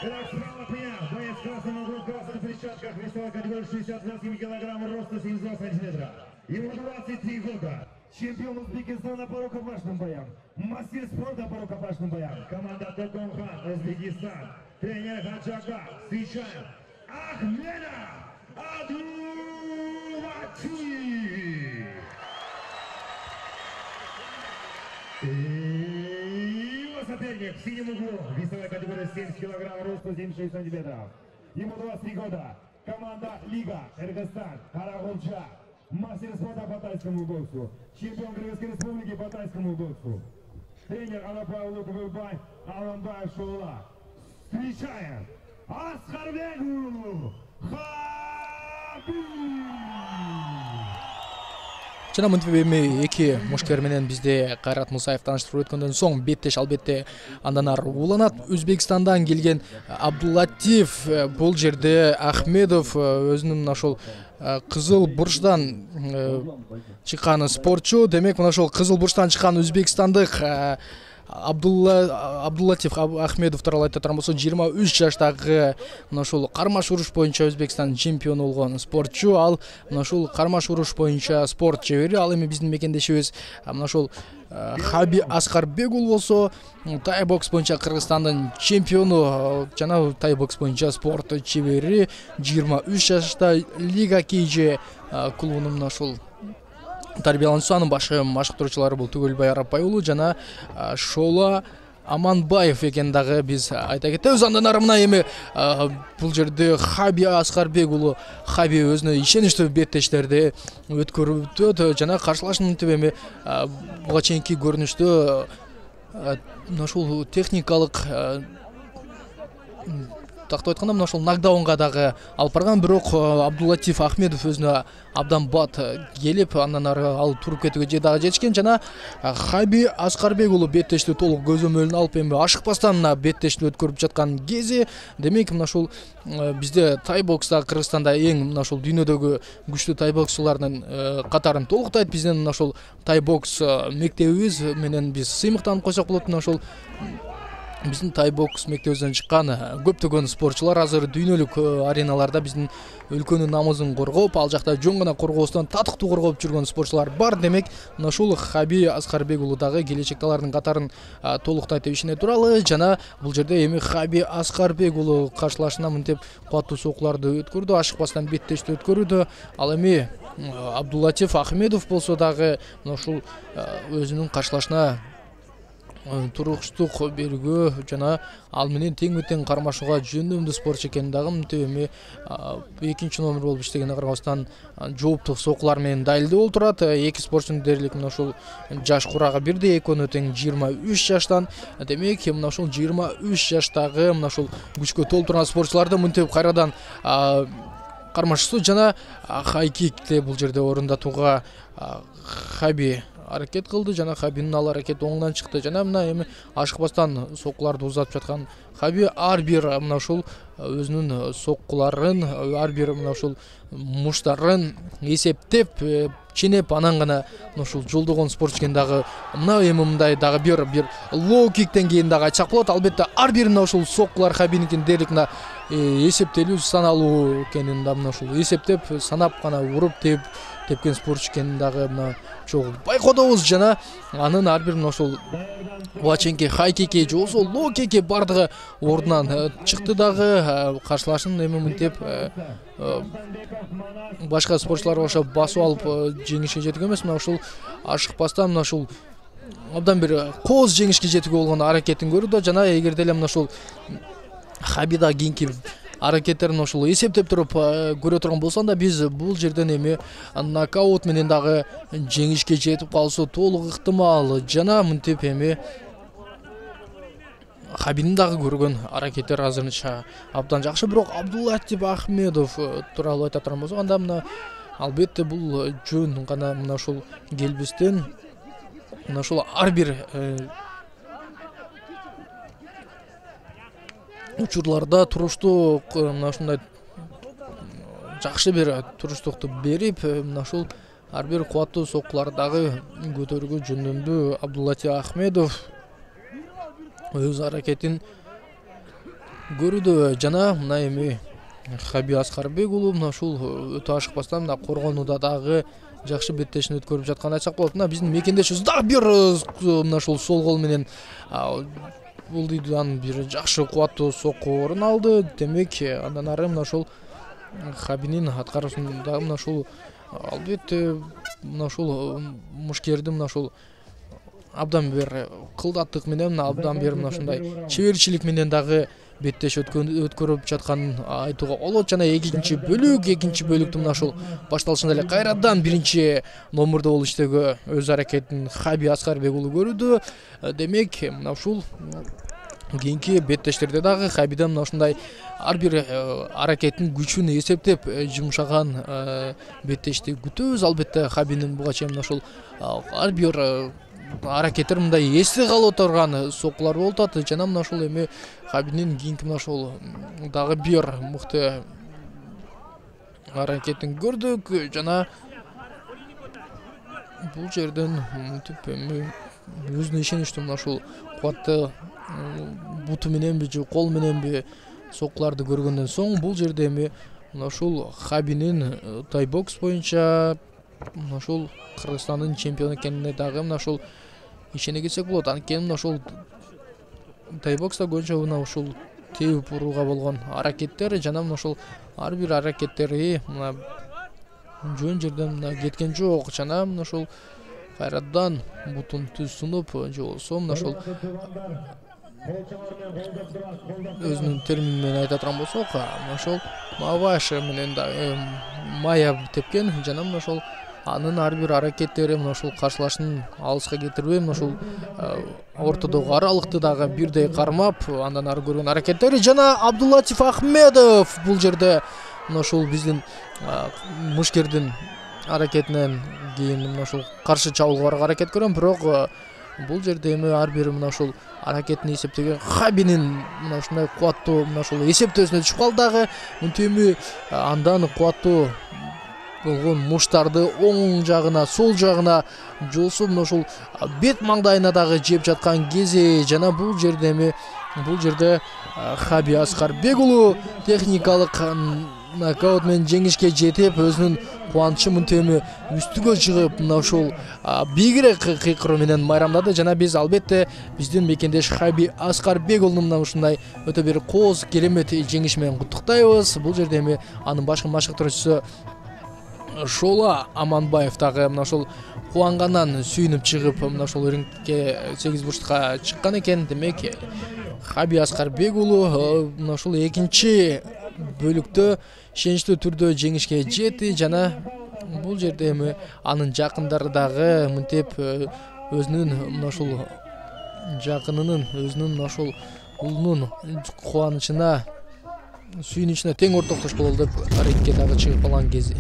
Итак, справа принял. Боец в красном углу, в красных перчатках, весовой категории 68 килограмм, роста 72 сантиметра. Ему 23 года. Чемпион Узбекистана по рукопашным боям. Мастер спорта по рукопашным боям. Команда Токомхан, Узбекистан. Тренер Хаджага. Встречаем Ахмеда Абдуллатиф. И его соперник в синем углу. Весовая категория 70 килограмм, роста 76 сантиметров. Ему 23 года. Команда Лига, Кыргызстан, Карагулча. Мастер спорта по тайскому боксу. Чемпион Кыргызской республики по тайскому боксу. Тренер Алапаев Лукубай, Аламбаев Шоула. Встречаем Аскарбегу Хабиб. Жана мынтип эми эки мушкер менен бизде Кайрат Мусаев тааныштырып өткөндөн соң беттеш албетте андан ары уланат. Өзбекстандан келген Абдуллатиф, бул жерде Ахмедов өзүнүн ошол кызыл бурчтан чыккан спортчу. Демек мына ошол кызыл бурчтан чыккан өзбекстандык Абдуллатиф Ахмедов тууралуу айтатын болсо 23 жаштагы мына ушул кармаш уруш боюнча Өзбекстан чемпиону болгон спортчу. Ал мына ушул кармаш уруш боюнча спорт чебери. Ал эми биздин мекендешибиз мына ушул Хаби Аскарбегул болсо тай бокс боюнча Кыргызстандын чемпиону жана тай бокс боюнча спорт чебери. 23 жашта Лига Кейже клубунун мына ушул тарбиялануучусу, анын башы машыктыруучулары бул Түгөлбай Арапбай уулу жана Шола Аманбаев экенин дагы биз айта кетебиз. Андан ары мына эми бул жерде Хаби Аскарбек уулу Хаби өзүнө ишеничтүү беттештерди өткөрүп өтөт жана каршылашын мынтип эми буга чейинки көрүнүштө мына ушул техникалык тактап айтканда мына ушул нокдаунга дагы алып барган, бирок Абдуллатиф Ахмедов өзүнө абдан бат келип, андан ары ал туруп кетүүгө дагы жетишкен жана Хаби Аскарбек уулу беттешти толук көзөмөлүнө алып эми ашыкпастан мына беттешти өткөрүп жаткан кези. Демек мына ушул бизде тай бокста Кыргызстанда эң мына ушул дүйнөдөгү күчтүү тай боксчулардын катарын толуктайт. Биздин мына ушул тай бокс мектебибиз менен биз сыймыктанып койсок болот. Мына ушул биздин тай бокс мектебибизден чыккан көптөгөн спортчулар азыр дүйнөлүк ареналарда биздин өлкөнүн намысын коргоп, ал жакта жөн гана коргоосунан татыктуу коргоп жүргөн спортчулар бар. Демек мына ушул Хаби Аскарбек уулу дагы келечекте алардын катарын толуктайт деп ишене туралы жана бул жерде эми Хаби Аскарбек уулу каршылашына мынтип кубаттуу сокуларды өткөрдү, ашыкпастан беттешти өткөрүүдө. Ал эми Абдуллатиф Ахмедов болсо дагы мына ушул өзүнүн каршылашына туруктук берүүгө жана ал менен тең-тең кармашууга жөндөмдүү спортчу экенин дагы мынтип эми экинчи номер болуп иштегенине карабастан жооптук сокулар менен далилдеп олтурат. Эки спортчунун дээрлик мына ушул жаш курагы бирдей, экөөнө тең 23 жаштан. Демек мына ушул 23 жаштагы мына ушул күчкө толтурган спортчуларды мынтип кайрадан кармашуусу жана хайкикте бул жерде орундатууга Хаби аракет кылды жана Хабинин ал аракети оңдон чыкты жана мына эми ашыкпастан сокуларды узатып жаткан Хаби ар бир мына ушул өзүнүн соккуларын, ар бир мына ушул муштарын эсептеп, ченеп анан гана мына ушул жолдогон спортчу экен. Дагы мына эми мындай дагы бир лоу киктен кийин дагы айтсак болот. Албетте ар бир мына ушул соккулар Хабиникин дээрлик мына эсептелүү, саналуу экенин да мына ушул эсептеп, санап гана уруп тепкен спортчу экенин дагы мына чогуу байкодобуз жана анын ар бир мына ушул буга чейинки хайкики же болбосо лоу кики бардыгы ордунан чыкты дагы. Каршылашын эми мынтип башка спортчуларга окшоп басып алып жеңишке жетүүгө эмес, мына ушул ашыкпастан мына ушул абдан бир кооз жеңишке жетүүгө болгон аракетин көрүүдө жана эгерде эле мына ушул Хабида кийинки аракеттерин ушул эсептеп туруп көрө турган болсоң да биз бул жерден эми нокаут менен дагы жеңишке жетип калышы толук ыктымал жана мынтип эми Хабинин дагы көргөн аракеттер азырынча абдан жакшы. Бирок Абдуллатиф Ахмедов тууралуу айта турган болсок, анда мына албетте бул жөн гана мына ушул келбестен мына ушул ар бир учурларда туруштук мына ушундай жакшы бир туруштукту берип мына ушул ар бир кубаттуу соккуларды дагы көтөрүүгө жөндөмдүү Абдуллатиф Ахмедов өз аракетин көрүүдө жана мына эми Хаби Аскарбек уулу мына ушул өтө ашыкпастан мына коргонууда дагы жакшы беттешин өткөрүп жатканын айтсак болот. Мына биздин мекендешибиз дагы бир мына ушул сол кол менен бул дүйдөн бир жакшы кубаттуу сокку орун алды. Демек андан ары мына ушул Хабинин аткаруусунда мына ушул албетте мына ушул мушкердин мына ушул абдан бир кылдаттык менен абдан бир мына ушундай чеберчилик менен дагы беттеш өткөрүп жатканын айтууга болот. Жана экинчи бөлүктү мына ушул башталышында эле кайрадан биринчи номурда болуп иштөөгө өз аракетин Хаби Аскарбек уулу көрүүдө. Демек мына ушул кийинки беттештерде дагы Хабиден мына ушундай ар бир аракеттин күчүн эсептеп жумшаган беттешти күтөбүз. Албетте Хабинин буга чейин мына ушул ар бир аракеттер мындай эсте калып турган соккулар болуп атат. Жана мына ушул эми Хабинин кийинки мына ушул дагы бир мыкты аракетин көрдүк. Жана бул жерден мынтип эми өзүнө ишеничтүү мына ушул кубатты буту мененби же кол мененби соккуларды көргөндөн соң бул жерде эми мына ушул Хабинин тайбокс боюнча мына ушул Кыргызстандын чемпиону экенине дагы мына ушул ишене кетсек болот. Анткени мына ушул тайбокста көбүнчө мына ушул тебип урууга болгон аракеттер жана мына ушул ар бир аракеттери мына жөн жерден мына кеткен жок. Жана мына ушул кайрадан бутун түз сунуп же болбосо мына ушул өзүнүн термини менен айта турган болсок мына ушул маваш менен дагы мая тепкен. Жана мына ушул анын ар бир аракеттери мына ушул каршылашын алыска кетирбей мына ушул ортодогу аралыкты дагы бирдей кармап андан ары көргөн аракеттери. Жана Абдуллатиф Ахмедов бул жерде мына ушул биздин мушкердин аракетинен кийин мына ушул каршы чабуулга аракет көрөм, бирок бул жерде эми ар бир мына ушул аракетин эсептеген Хабинин мына ушундай кубаттуу мына ушул эсептөөсүнө түшүп калды дагы. Мынтип эми андан кубаттуу болгон муштарды оң жагына, сол жагына жолсу мына ушул бет маңдайына дагы жеп жаткан кези. Жана бул жерде Хаби Аскарбек уулу техникалык нокаут менен жеңишке жетип өзүнүн кубанычын мынтип эми үстүгө чыгып мына ушул бийигирээк кыйкыруу менен майрамдады. Жана биз албетте биздин мекендеш Хаби Аскарбек уулуну мына ушундай өтө бир кооз керемет жеңиш менен куттуктайбыз. Бул жерде эми анын башкы машыктыруучусу Шола Аманбаев дагы мына ушул кубангандан сүйүнүп чыгып мына ушул рингке 8 бурчтукка чыккан экен. Демек Хаби Аскарбек уулу мына ушул экинчи бөлүктө ишеничтүү түрдө жеңишке жетти. Жана бул жерде эми анын жакындары дагы мынтип өзүнүн мына ушул жакынынын өзүнүн мына ушул уулунун кубанычына сүйүнүчүнө тең ортоктош бололу деп рингке дагы чыгып калган кези.